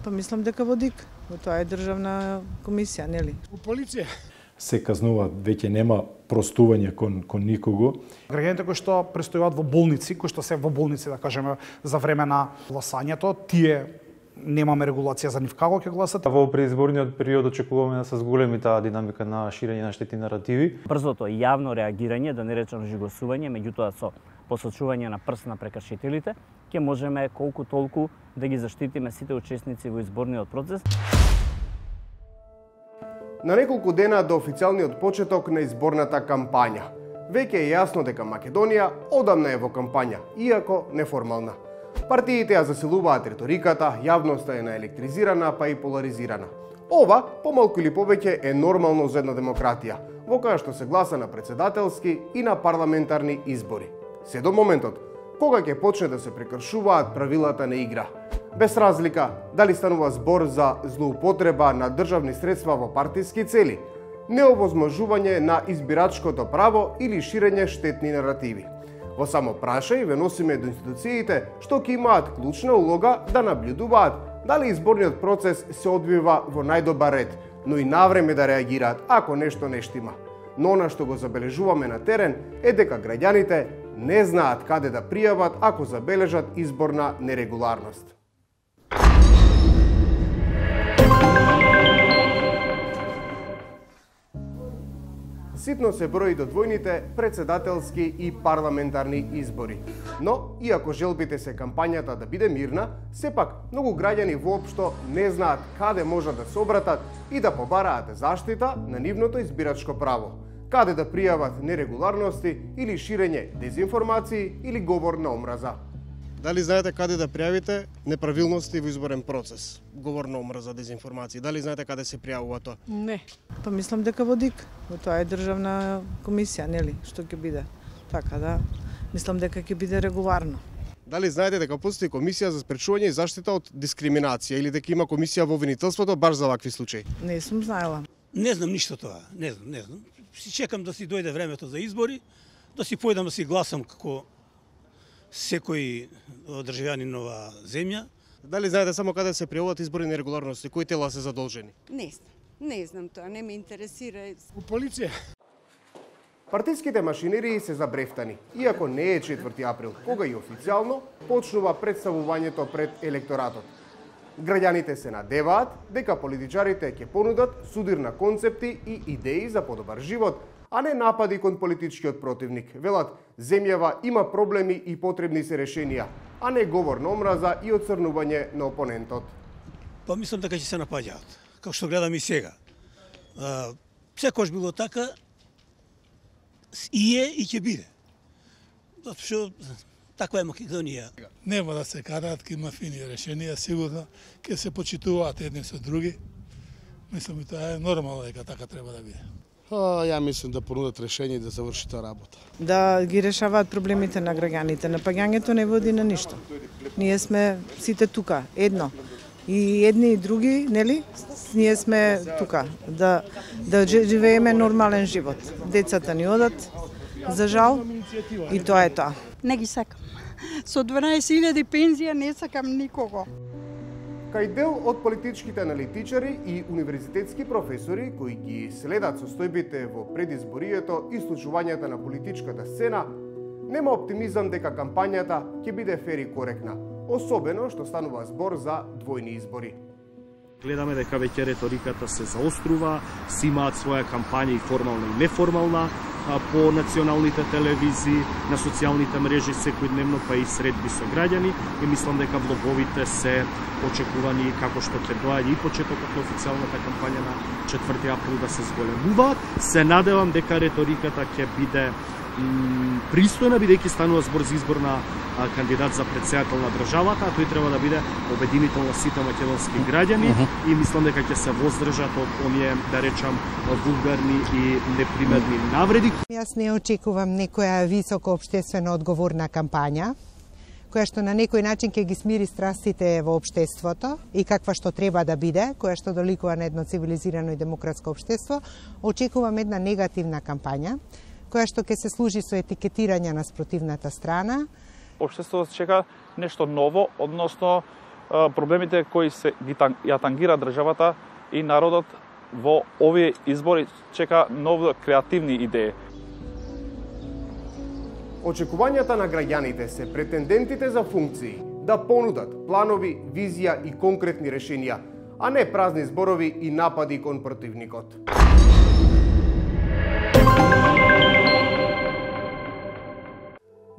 Па мислам дека во ДИК, тоа е државна комисија, нели? У полиција се казнуваат, веќе нема простување кон никого. Граѓаните кои што престојуваат во болници, кои што се во болници, да кажеме, за време на гласањето, тие немаме регулација за нив како ќе гласат. Во предизборниот период очекуваме да се зголеми таа динамика на ширење на штетни наративи. Брзото и јавно реагирање, да не речам жигосување, меѓутоа со посочување на прст на прекршителите, ќе можеме колку толку да ги заштитиме сите учесници во изборниот процес. На неколку дена до официјалниот почеток на изборната кампања. Веќе е јасно дека Македонија одамна е во кампања, иако неформална. Партиите ја засилуваат риториката, јавноста е наелектризирана, па и поларизирана. Ова, помалку или повеќе, е нормално за една демократија, во која што се гласа на претседателски и на парламентарни избори. Се до моментот, кога ќе почне да се прекршуваат правилата на игра. Без разлика дали станува збор за злоупотреба на државни средства во партиски цели, неовозможување на избирачкото право или ширење штетни наративи. Во само прашај ве носиме до институциите што ќе имаат клучна улога да наблюдуваат дали изборниот процес се одвива во најдобар ред, но и навреме да реагираат ако нешто не штима. Но она што го забележуваме на терен е дека граѓаните не знаат каде да пријават ако забележат изборна нерегуларност. Ситно се брои до двојните претседателски и парламентарни избори. Но, иако желбите се кампањата да биде мирна, сепак многу граѓани воопшто не знаат каде можат да се обратат и да побараат заштита на нивното избирачко право, каде да пријават нерегуларности или ширење дезинформации или говор на омраза. Дали знаете каде да пријавите неправилности во изборен процес? Говор на омраза, дезинформации. Дали знаете каде се пријавува тоа? Не. Па мислам дека во ДИК, тоа е државна комисија, нели, што ќе биде. Така да, мислам дека ќе биде регуларно. Дали знаете дека постои комисија за спречување и заштита од дискриминација или дека има комисија во обвинителството баш за вакви случаи? Не сум знаела. Не знам ништо тоа, не знам. Си чекам да си дојде времето за избори, да си појдам да си гласам како секој државјанин на оваа земја. Дали знаете само каде се пријавуваат изборни нерегуларности, кои тела се задолжени? Не знам тоа, не ме интересира. У полиција. Партиските машинерии се забрефтани, иако не е 4 април, кога и официјално почнува представувањето пред електоратот. Граѓаните се надеваат дека политичарите ќе понудат судир на концепти и идеи за подобар живот, а не напади кон политичкиот противник. Велат, земјава има проблеми и потребни се решенија, а не говор на омраза и оцрнување на опонентот. Па мислам дека ќе се напаѓаат, како што гледам и сега. Секојаш било така, и е и ќе биде. Затоа што таква е Македонија. Нема да се караат, ќе има фини решенија, сигурно ќе се почитуваат едни со други. Мислам и тоа е нормално дека така треба да биде. Ја мислам да понудат решение и да заврши таа работа. Да ги решаваат проблемите на граѓаните. Напаѓањето не води на ништо. Ние сме сите тука, едно. И едни и други, нели? Ние сме тука да живееме нормален живот. Децата ни одат, за жал, и тоа е тоа. Не ги сакам. Со 12.000 пензија не сакам никого. Кај дел од политичките аналитичари и универзитетски професори кои ги следат состојбите во предизборието и случувањата на политичката сцена, нема оптимизам дека кампањата ќе биде фер и коректна, особено што станува збор за двојни избори. Гледаме дека веќе реториката се заострува, си имаат своја кампања и формална и неформална по националните телевизии, на социјалните мрежи секојдневно, па и средби со граѓани, и мислам дека влоговите се очекувани како што ќе доаѓа и почетокот на официјалната кампања на 4 април да се зголемуваат. Се надевам дека реториката ќе биде пристојна, бидејќи станува збор за избор на кандидат за претседател на државата, а тој треба да биде обединител на сите македонски граѓани, и мислам дека ќе се воздржат од оние, да речам, вулгарни и непримерни навреди. Јас не очекувам некоја високо општествено одговорна кампања, која што на некој начин ќе ги смири страстите во општеството и каква што треба да биде, која што доликува на едно цивилизирано и демократско општество. Очекувам една негативна кампања, која што ќе се служи со етикетирање на спротивната страна. Општеството чека нешто ново, односно проблемите кои ја тангира државата и народот во овие избори чека нови креативни идеи. Очекувањата на граѓаните се претендентите за функции да понудат планови, визија и конкретни решенија, а не празни зборови и напади кон противникот.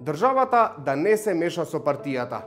Државата да не се меша со партијата.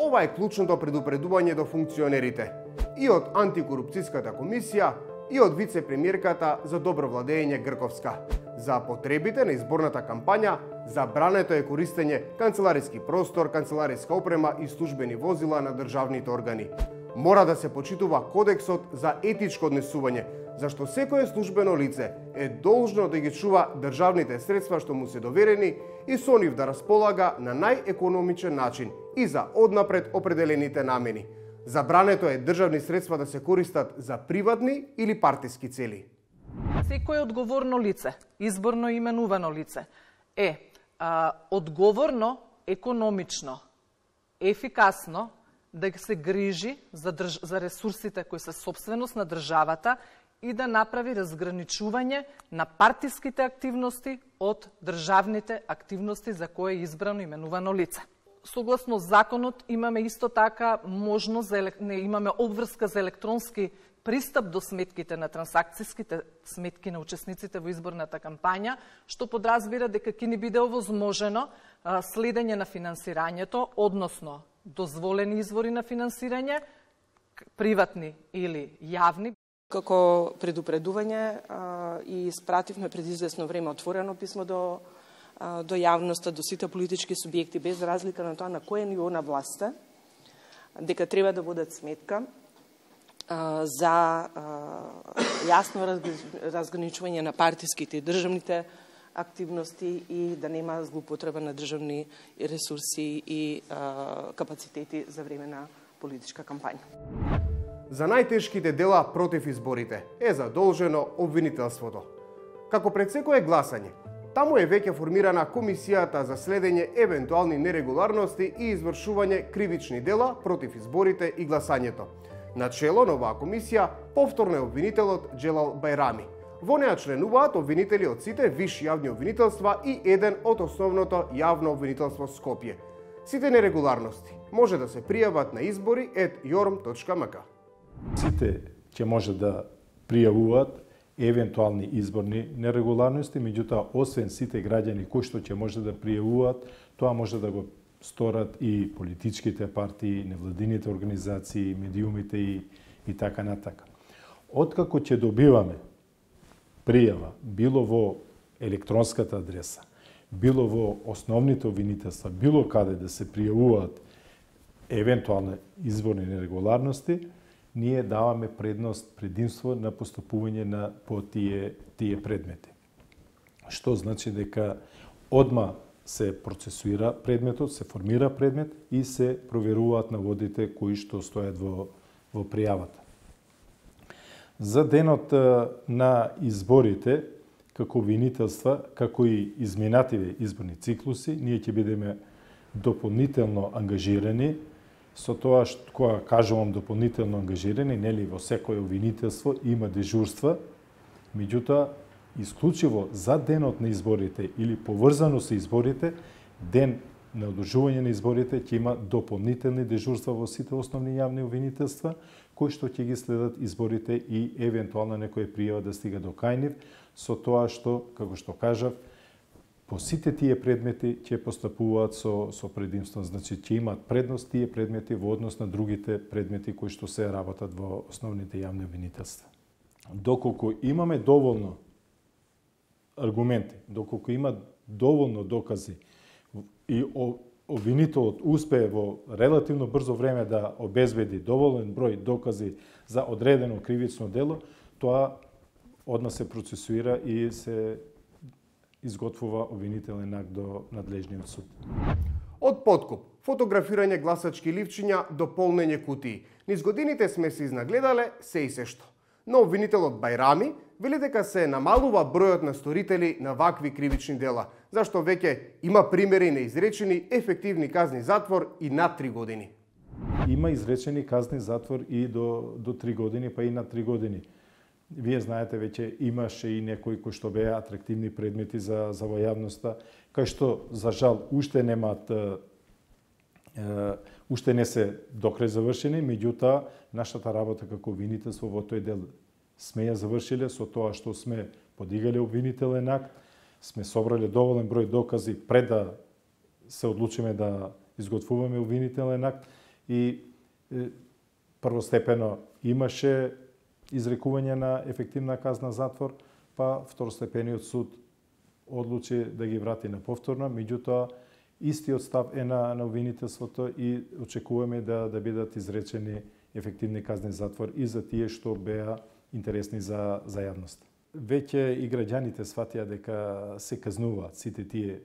Ова е клучното предупредување до функционерите и од антикорупцијската комисија и од вице-премиерката за добро владење Грковска. За потребите на изборната кампања забрането е користење канцелариски простор, канцелариска опрема и службени возила на државните органи. Мора да се почитува кодексот за етичко однесување, зашто секое службено лице е должно да ги чува државните средства што му се доверени и со нив да располага на најекономичен начин и за однапред определените намени. Забрането е државни средства да се користат за приватни или партиски цели. Секое одговорно лице, изборно именувано лице, е одговорно, економично, ефикасно да се грижи за ресурсите кои се собственост на државата и да направи разграничување на партиските активности од државните активности за кои е избрано именувано лице. Согласно законот имаме исто така можност имаме обврска за електронски пристап до сметките на трансакцијските сметки на учесниците во изборната кампања, што подразбира дека ќе ни биде овозможено следење на финансирањето, односно дозволени извори на финансирање, приватни или јавни. Како предупредување и испративме пред извесно време отворено писмо до јавноста, до сите политички субјекти, без разлика на тоа на кое ниво на власта, дека треба да водат сметка за јасно разграничување на партиските и државните активности и да нема злоупотреба на државни ресурси и капацитети за време на политичка кампања. За најтешките дела против изборите е задолжено обвинителството. Како пред секое гласање, таму е веќе формирана комисијата за следење евентуални нерегуларности и извршување кривични дела против изборите и гласањето. Начело на оваа комисија повторно е обвинителот Джелал Бајрами. Во неа членуваат обвинители од сите висши јавни обвинителства и еден од основното јавно обвинителство Скопје. Сите нерегуларности може да се пријават на избори@jorm.mk. Сите ќе може да пријавуваат евентуални изборни нерегуларности, меѓутоа освен сите граѓани кои што ќе може да пријавуваат, тоа може да го сторат и политичките партии, невладините организации, медиумите и така натака. Откако ќе добиваме пријава, било во електронската адреса, било во основните обвинителства, било каде да се пријавуваат евентуални изборни нерегуларности, ние даваме предимство на постапување по тие предмети. Што значи дека одма се процесуира предметот, се формира предмет и се проверуваат наводите кои што стојат во пријавата. За денот на изборите, како обвинителства, како и изминативе изборни циклуси, ние ќе бидеме дополнително ангажирани. Со тоа кога кажувам дополнително ангажирани, нели во секое обвинителство има дежурства, меѓутоа исклучиво за денот на изборите или поврзано со изборите, ден на одржување на изборите ќе има дополнителни дежурства во сите основни јавни обвинителства, кои што ќе ги следат изборите и евентуално некоја пријава да стига до кај нив, со тоа што, како што кажав, по сите тие предмети ќе постапуваат со предимство, значи ќе имаат предност тие предмети во однос на другите предмети кои што се работат во основните јавни обвинителства. Доколку имаме доволно аргументи, доколку има доволно докази и обвинителот успее во релативно брзо време да обезбеди доволен број докази за одредено кривично дело, тоа одма се процесуира и се изготвува обвинителен акт до надлежниот суд. Од подкуп, фотографирање гласачки ливчиња до полнење кутии. Низ годините сме се изнагледале се и се што. Но обвинителот Бајрами вели дека се намалува бројот на сторители на вакви кривични дела, зашто веќе има примери на изречени ефективни казни затвор и над 3 години. Има изречени казни затвор и до 3 години, па и на 3 години. Вие знаете, веќе имаше и некои кои што беа атрактивни предмети за во јавноста, кај што, за жал, уште не се докрај завршени, меѓутоа, нашата работа како обвинителство во тој дел сме ја завршиле со тоа што сме подигале обвинителен акт, сме собрале доволен број докази пред да се одлучиме да изготвуваме обвинителен акт и првостепено имаше изрекување на ефективна казна затвор, па второстепениот суд одлучи да ги врати на повторно, меѓутоа истиот став е на обвинителството и очекуваме да бидат изречени ефективни казни затвор и за тие што беа интересни за јавност. Веќе и граѓаните сватија дека се казнуваат сите тие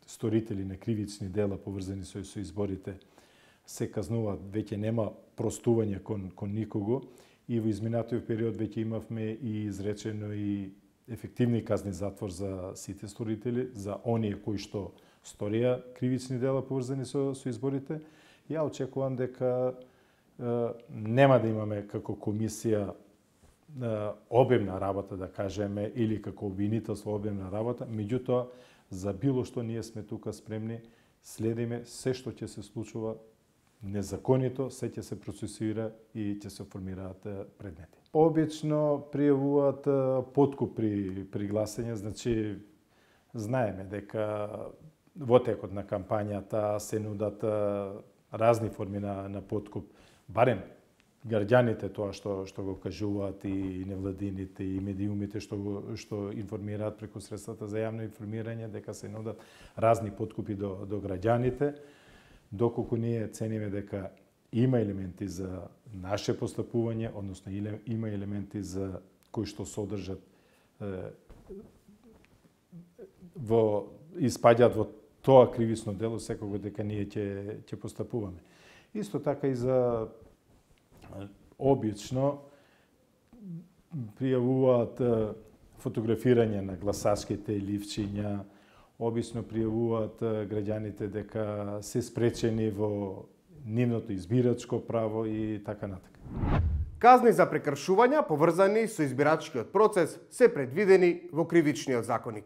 сторители на кривични дела поврзани со изборите, се казнуваат, веќе нема простување кон никого и во изминатиот период веќе имавме и изречено и ефективни казни затвор за сите сторители, за оние кои што сторија кривични дела поврзани со изборите. Ја очекувам дека нема да имаме како комисија обемна работа, да кажеме, или како обвинителство обемна работа, меѓутоа, за било што ние сме тука спремни, следиме се што ќе се случува незаконито, се ќе се процесуира и ќе се формираат предмети. Обично пријавуваат подкуп при гласање, значи знаеме дека во текот на кампањата се нудат разни форми на подкуп, барем граѓаните тоа што го кажуваат и невладините и медиумите што информираат преку средствата за јавно информирање дека се нудат разни подкупи до граѓаните, доколку ние цениме дека има елементи за наше постапување, односно има елементи за кои што содржат испаѓаат во тоа кривично дело, секако дека ние ќе постапуваме. Исто така и за обично пријавуваат фотографирање на гласачките ливчиња, обично пријавуваат граѓаните дека се спречени во нивното избирачко право и така натака. Казни за прекршувања поврзани со избирачкиот процес се предвидени во Кривичниот законник.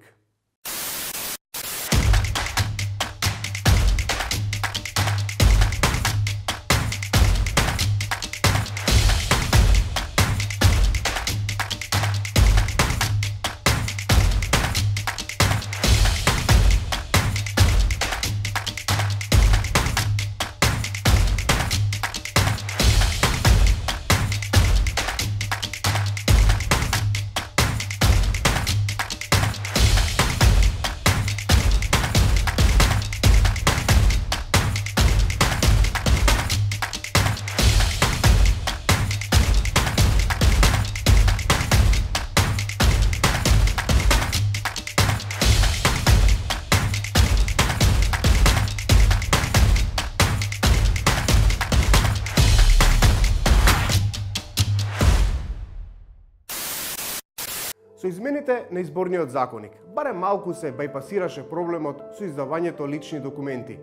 Со измените на изборниот законник, барем малку се бајпасираше проблемот со издавањето лични документи,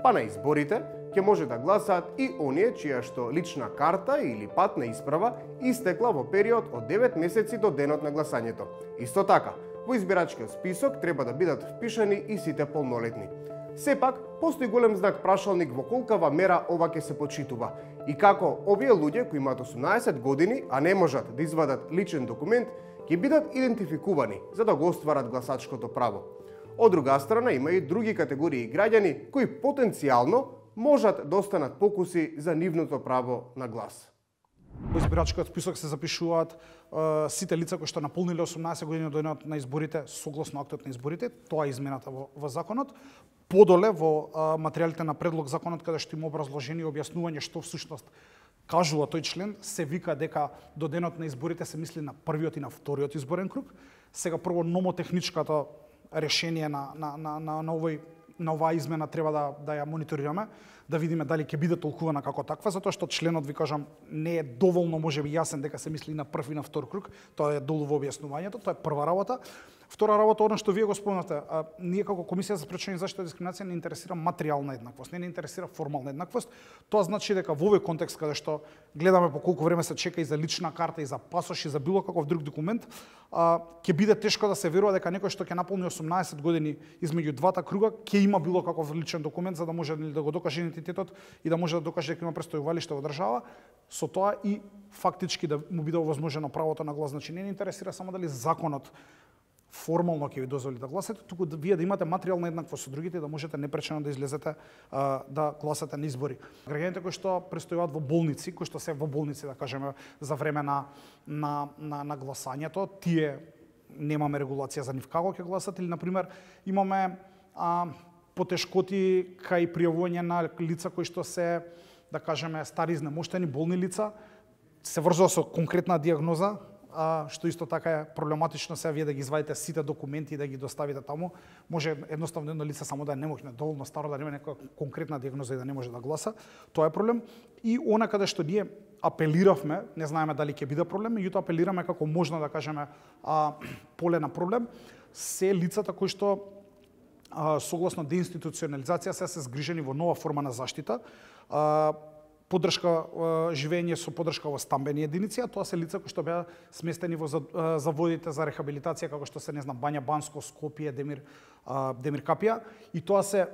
па на изборите ќе може да гласаат и оние чија што лична карта или патна исправа истекла во период од 9 месеци до денот на гласањето. Исто така, во избирачкиот список треба да бидат впишани и сите полнолетни. Сепак, постои голем знак прашалник во колкава мера ова ќе се почитува и како овие луѓе кои имаат 18 години, а не можат да извадат личен документ, ќе бидат идентификувани за да го остварат гласачкото право. Од друга страна, има и други категории граѓани кои потенцијално можат да останат покуси за нивното право на глас. Во избирачкиот список се запишуваат сите лица кои што наполниле 18 години до денот на изборите согласно актот на изборите, тоа е измената во законот. Подоле во материјалите на предлог законот каде што има образложение и објаснување што всушност кажува тој член, се вика дека до денот на изборите се мисли на првиот и на вториот изборен круг. Сега прво номотехничкото решение на оваа измена треба да ја мониторираме, да видиме дали ќе биде толкувана како таква, затоа што членот, ви кажам, не е доволно можеби јасен дека се мисли на прв и на втор круг, тоа е долу во објаснувањето, тоа е прва работа. Втора работа, она што вие го спомнате, ние како Комисија за спречување и заштита од дискриминација не интересира материјална еднаквост, не интересира формална еднаквост. Тоа значи дека во овој контекст каде што гледаме по колку време се чека и за лична карта и за пасош и за било каков друг документ, ќе биде тешко да се верува дека некој што ќе наполни 18 години измеѓу двата круга ќе има било каков личен документ за да може да го докаже идентитетот и да може да докаже дека има престојувалиште во држава, со тоа и фактички да му биде овозможено правото на глас. Значи не ни интересира само дали законот формално ќе ви дозволи да гласате, туку вие да имате материјална еднаквост со другите, да можете непречено да излезете да гласате на избори. Граѓаните кои што престојуваат во болници, кои што се во болници, да кажеме, за време на гласањето, тие немаме регулација за нив како ќе гласат, или например имаме потешкоти кај пријавување на лица кои што се, да кажеме, стари изнемоштени, болни лица, се врзува со конкретна диагноза, што исто така е проблематично сега вие да ги извадите сите документи и да ги доставите таму. Може едноставно едно лице само да е немоќно, доволно старо, да нема некоја конкретна диагноза и да не може да гласа. Тоа е проблем. И она каде што ние апелиравме, не знаеме дали ќе биде проблем, меѓутоа апелираме како можно да кажеме поле на проблем, се лицата кои што согласно деинституционализација се згрижени во нова форма на заштита, поддршка живење со поддршка во стамбени единици, а тоа се лица кои што беа сместени во заводите за рехабилитација како што се, не знам, Бања Банско, Скопје, Демир Капија, и тоа се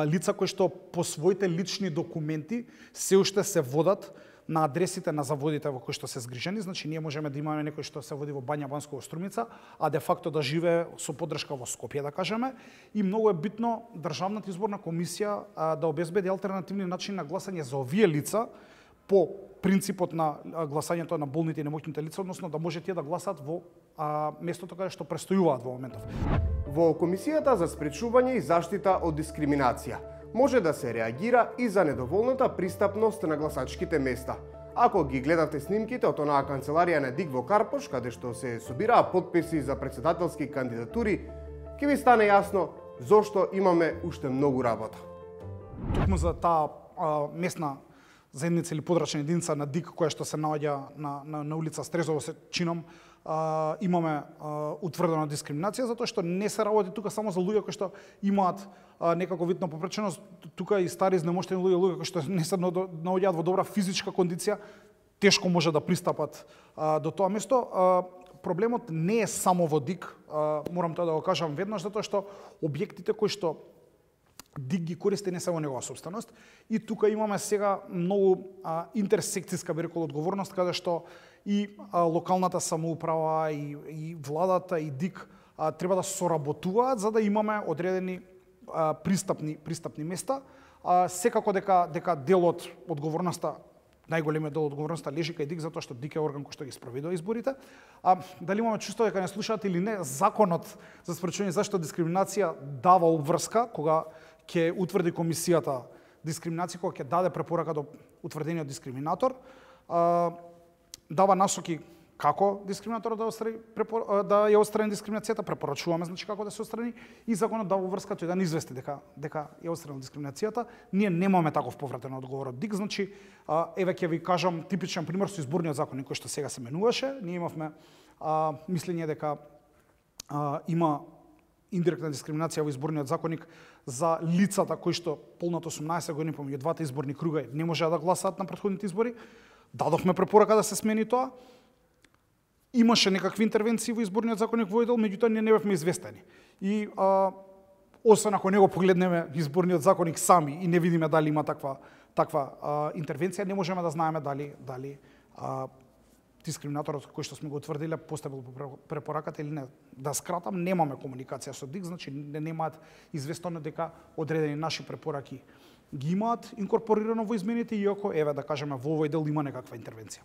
лица кои што по своите лични документи се уште се водат на адресите на заводите во кои што се згрижени. Значи ние можеме да имаме некој што се води во Бања Банско во Струмица, а де факто да живее со поддршка во Скопје, да кажеме. И многу е битно Државната изборна комисија да обезбеди алтернативни начини на гласање за овие лица по принципот на гласањето на болните и немоќните лица, односно да може тие да гласат во местото каде што престојуваат во моментов. Во Комисијата за спречување и заштита од дискриминација може да се реагира и за недоволната пристапност на гласачките места. Ако ги гледате снимките од онаа канцеларија на Дик во Карпош, каде што се собираа потписи за претседателски кандидатури, ќе ви стане јасно зошто имаме уште многу работа. Токму за таа местна заедница или подрачна единица на Дик, која што се наоѓа на улица Стрезово, се чином, имаме утврдена дискриминација, затоа што не се работи тука само за луѓе кои што имаат некако вид на попреченост, тука и стари изнемоштени луѓе кои што не се наоѓаат во добра физичка кондиција, тешко може да пристапат до тоа место. Проблемот не е само во Дик, морам тоа да го кажам веднаш, затоа што објектите кои што Дик ги користи не се во негова собственост, и тука имаме сега многу интерсекцијска, би рекол, одговорност, каде што и локалната самоуправа, и владата, и Дик треба да соработуваат за да имаме одредени пристапни места. Секако дека делот одговорноста, најголемиот дел одговорноста лежи кај Дик, затоа што Дик е орган кој што ги спроведува изборите. Дали имаме чувство дека не слушаат или не, законот за спречување и заштита од дискриминација дава обврска кога ќе утврди комисијата дискриминација, кога ќе даде препорака до утврдениот дискриминатор, дава насоки како дискриминаторот да ја отстрани дискриминацијата, препорачуваме значи како да се отстрани, и законот дава врска тој да не извести дека ја отстранил дискриминацијата. Ние немаме таков повратен одговор од Дик, значи еве ќе ви кажам типичен пример со изборниот законник кој што сега се менуваше. Ние имавме мислење дека има индиректна дискриминација во изборниот законник за лицата кои што полнато 18 години помеѓу двата изборни круга не можеа да гласаат на претходните избори. Дадовме препорака да се смени тоа. Имаше некакви интервенции во изборниот законник во дел, меѓутоа ние не бевме известени. И освен ако не го погледнеме изборниот законник сами и не видиме дали има таква интервенција, не можеме да знаеме дали дискриминаторот кој што сме го утврдиле поставил препораката или не. Да скратам, немаме комуникација со Дик, значи немаат известено дека одредени наши препораки ги имаат инкорпорирано во измените, иако еве да кажеме во овој дел има некаква интервенција.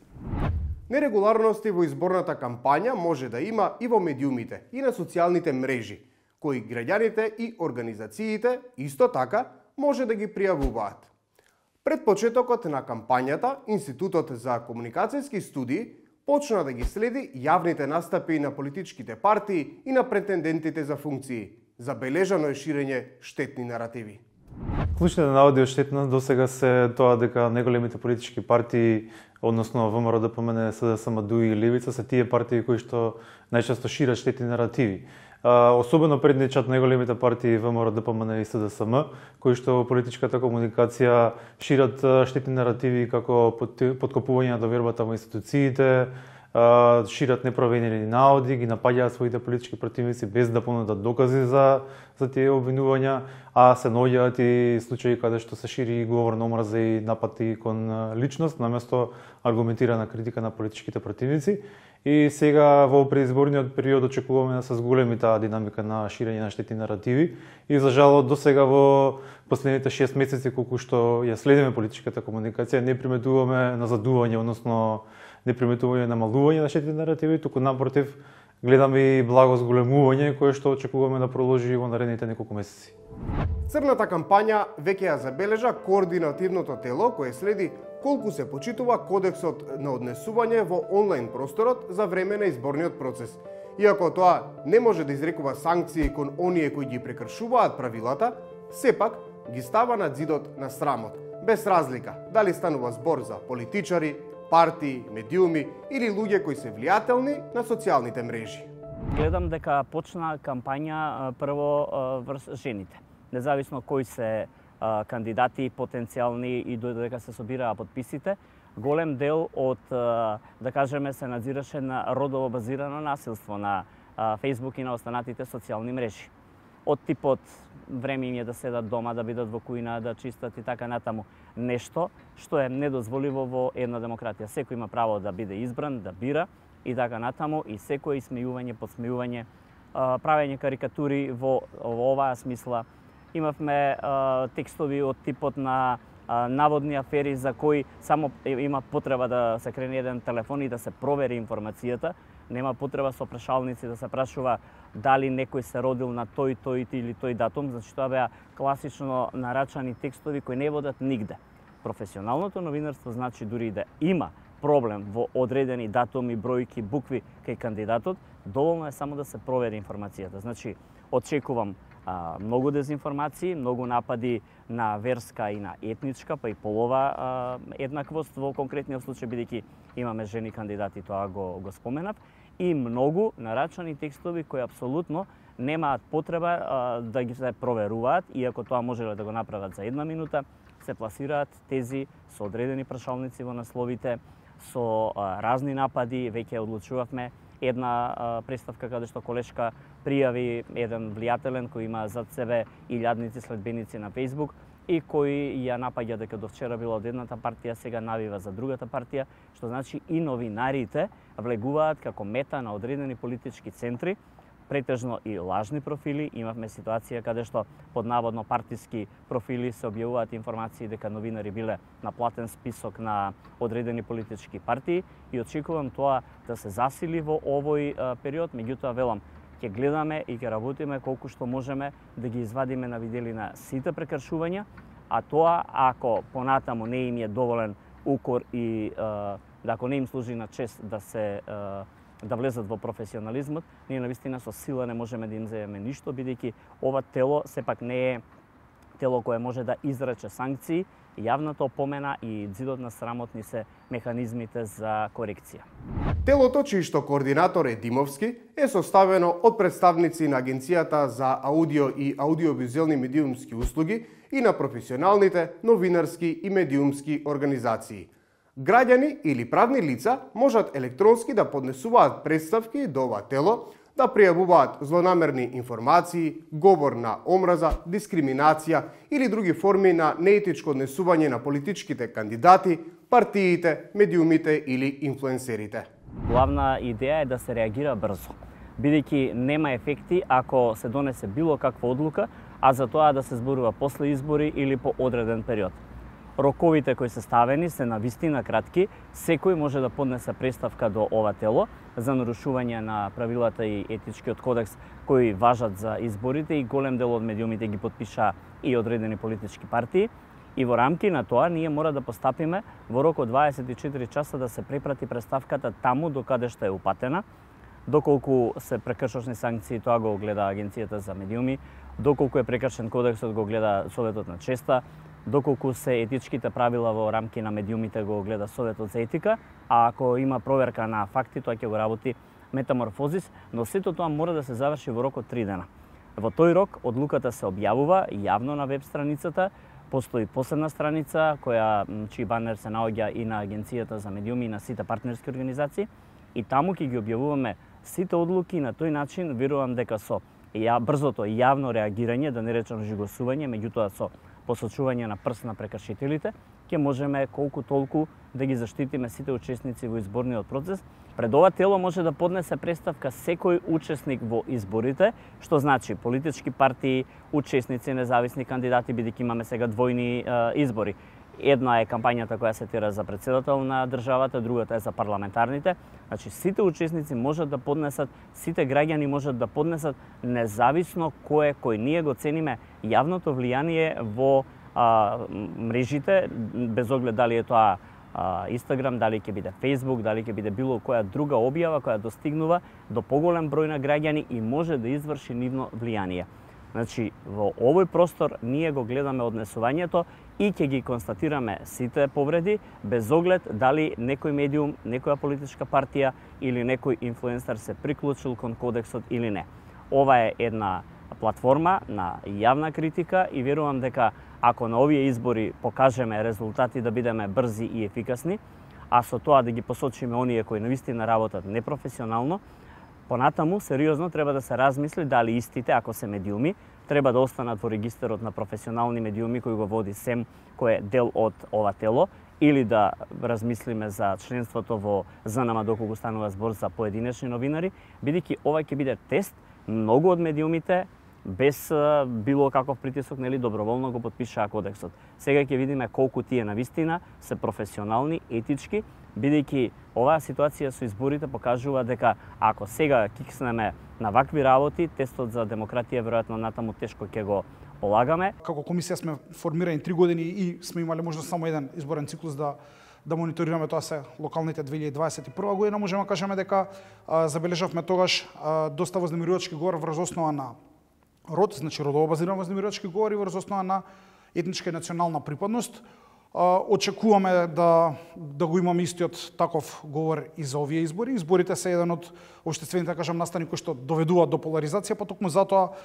Нерегуларности во изборната кампања може да има и во медиумите и на социјалните мрежи, кои граѓаните и организациите исто така може да ги пријавуваат. Пред почетокот на кампањата, Институтот за комуникацијски студии почна да ги следи јавните настапи на политичките партии и на претендентите за функции. Забележано е ширење штетни наративи. Клучните наводи од штетност досега се тоа дека најголемите политички партии, односно ВМРО, ДПМН, СДСМ, ДУИ и Левица се тие партии кои што најчесто шират штетни наративи. Особено предничат најголемите партии ВМРО, ДПМН и СДСМ, кои што во политичката комуникација шират штетни наративи како подкопување на довербата во институциите, шират непроверени наоди, ги напаѓаат своите политички противници без да понудат докази за тие обвинувања, а се наоѓаат и случаи каде што се шири говор на омраза и нападки кон личност, наместо аргументирана критика на политичките противници. И сега во преизборниот период очекуваме да се зголеми таа динамика на ширење на штетни наративи и за жал до сега во последните 6 месеци колку што ја следиме политичката комуникација не приметуваме назадување, односно не приметување намалување на штетни наративи, туку напротив гледаме и благо зголемување кое што очекуваме да продолжи во наредните неколку месеци. Црната кампања веќе ја забележа координативното тело кое следи колку се почитува кодексот на однесување во онлайн просторот за време на изборниот процес. Иако тоа не може да изрекува санкции кон оние кои ги прекршуваат правилата, сепак ги става на ѕидот на срамот, без разлика дали станува збор за политичари, партии, медиуми или луѓе кои се влијателни на социјалните мрежи. Гледам дека почна кампања прво врз жените. Независно кои се кандидати потенцијални и додека се собираа подписите, голем дел од, да кажеме, се надзираше на родово базирано насилство на Facebook и на останатите социјални мрежи. Од типот време им е да седат дома, да бидат во кујна, да чистат и така натаму. Нешто што е недозволиво во една демократија. Секој има право да биде избран, да бира и така натаму, и секој исмејување, подсмејување, правење карикатури во оваа смисла. Имавме текстови од типот на наводни афери за кои само има потреба да се крене еден телефон и да се провери информацијата. Нема потреба со прашалници да се прашува дали некој се родил на тој или тој датум, значи тоа беа класично нарачани текстови кои не водат нигде. Професионалното новинарство значи дури да има проблем во одредени датуми, бројки, букви кај кандидатот, доволно е само да се провери информацијата. Значи, очекувам многу дезинформации, многу напади на верска и на етничка, па и полова еднаквост во конкретниот случај, бидејќи имаме жени кандидати, тоа го споменав, и многу нарачани текстови кои апсолутно немаат потреба да ги се проверуваат, иако тоа можеле да го направат за една минута, се пласираат тези со одредени прашалници во насловите, со разни напади. Веќе одлучувавме една представка каде што колешка пријави еден влијателен кој има зад себе илјадници следбеници на Facebook и кој ја напаѓа дека до вчера била од едната партија, сега навива за другата партија, што значи и новинарите влегуваат како мета на одредени политички центри, претежно и лажни профили. Имавме ситуација каде што под наводно партиски профили се објавуваат информации дека новинари биле на платен список на одредени политички партии и очекувам тоа да се засили во овој период. Меѓутоа велам, ќе гледаме и ќе работиме колку што можеме да ги извадиме на виделина сите прекршувања, а тоа ако понатаму не им е доволен укор и ако не им служи на чест да влезат во професионализмот, ние навистина со сила не можеме да им земеме ништо, бидејќи ова тело сепак не е тело кое може да изрече санкции, јавната опомена и ѕидот на срамот ни се механизмите за корекција. Телото, чиј што координатор е Димовски, е составено од представници на Агенцијата за аудио и аудиовизуелни медиумски услуги и на професионалните новинарски и медиумски организации. Граѓани или правни лица можат електронски да поднесуваат представки до ова тело, да пријавуваат злонамерни информации, говор на омраза, дискриминација или други форми на неетичко однесување на политичките кандидати, партиите, медиумите или инфлуенсерите. Главна идеја е да се реагира брзо, бидејќи нема ефекти ако се донесе било каква одлука, а за тоа да се зборува после избори или по одреден период. Роковите кои се ставени се навистина кратки, секој може да поднесе представка до ова тело за нарушување на правилата и етичкиот кодекс кои важат за изборите и голем дел од медиумите ги потпиша и одредени политички партии. И во рамки на тоа ние мора да постапиме во рок од 24 часа да се препрати представката таму до каде што е упатена, Доколку се прекршочни санкции, тоа го гледа Агенцијата за медиуми, доколку е прекршен кодексот, го гледа Советот на честа, доколку се етичките правила во рамки на медиумите, го гледа Советот за етика, а ако има проверка на факти, тоа ќе го работи Метаморфозис, но сето тоа мора да се заврши во рок од 3 дена. Во тој рок одлуката се објавува јавно на веб страницата, постои посебна страница чиј банер се наоѓа и на Агенцијата за медиуми и на сите партнерски организации, и таму ќе ги објавуваме сите одлуки. На тој начин верувам дека со брзото јавно реагирање, да не речам жигосување, меѓутоа со посочување на прст на прекршителите, ќе можеме колку толку да ги заштитиме сите учесници во изборниот процес. Пред ова тело може да поднесе представка секој учесник во изборите, што значи политички партии, учесници, независни кандидати, бидејќи имаме сега двојни избори. Една е кампањата која се тера за председател на државата, другата е за парламентарните. Значи, сите учесници можат да поднесат, сите граѓани можат да поднесат, независно кој ние го цениме јавното влијание во мрежите, без оглед дали е тоа Инстаграм, дали ќе биде Фејсбук, дали ќе биде било која друга објава која достигнува до поголем број на граѓани и може да изврши нивно влијание. Значи, во овој простор ние го гледаме однесувањето и ќе ги констатираме сите повреди, без оглед дали некој медиум, некоја политичка партија или некој инфлуенсер се приклучил кон кодексот или не. Ова е една платформа на јавна критика и верувам дека ако на овие избори покажеме резултати да бидеме брзи и ефикасни, а со тоа да ги посочиме оние кои навистина работат непрофесионално, понатаму сериозно треба да се размисли дали истите, ако се медиуми, треба да останат во регистарот на професионални медиуми кој го води СЕМ, кој е дел од ова тело, или да размислиме за членството во ЗНМ доколку станува збор за поединечни новинари, бидејќи ова ќе биде тест. Многу од медиумите без било каков притисок, доброволно го потпишаа кодексот. Сега ќе видиме колку тие навистина се професионални, етички, бидејќи оваа ситуација со изборите покажува дека ако сега кикснеме на вакви работи, тестот за демократија веројатно натаму тешко ќе го полагаме. Како комисија сме формирани 3 години и сме имале можност само еден изборен циклус да мониторираме, тоа се локалните 2021 година. Можеме да кажеме дека забележавме тогаш доста вознемирувачки говор врз основа на род, значи родово базиран вознемирувачки говори врз основа на етничка и национална припадност. Очекуваме да го имаме истиот таков говор и за овие избори. Изборите се еден од општествените, настани кои што доведуваат до поларизација, па токму затоа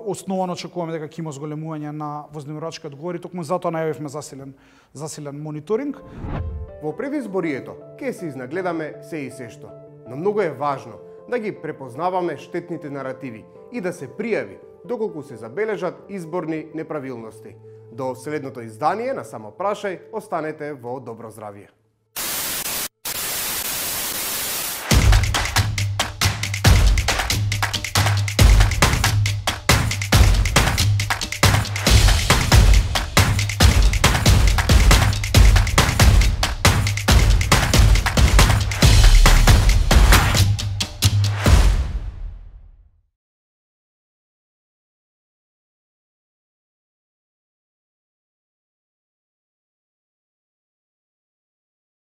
основано очекуваме дека ќе има зголемување на вознемирувачкиот говор и токму затоа најавивме засилен мониторинг. Во предизборието ќе се изнагледаме се и сешто, но многу е важно да ги препознаваме штетните наративи и да се пријави доколку се забележат изборни неправилности. До следното издание на Само прашај, останете во добро здравје.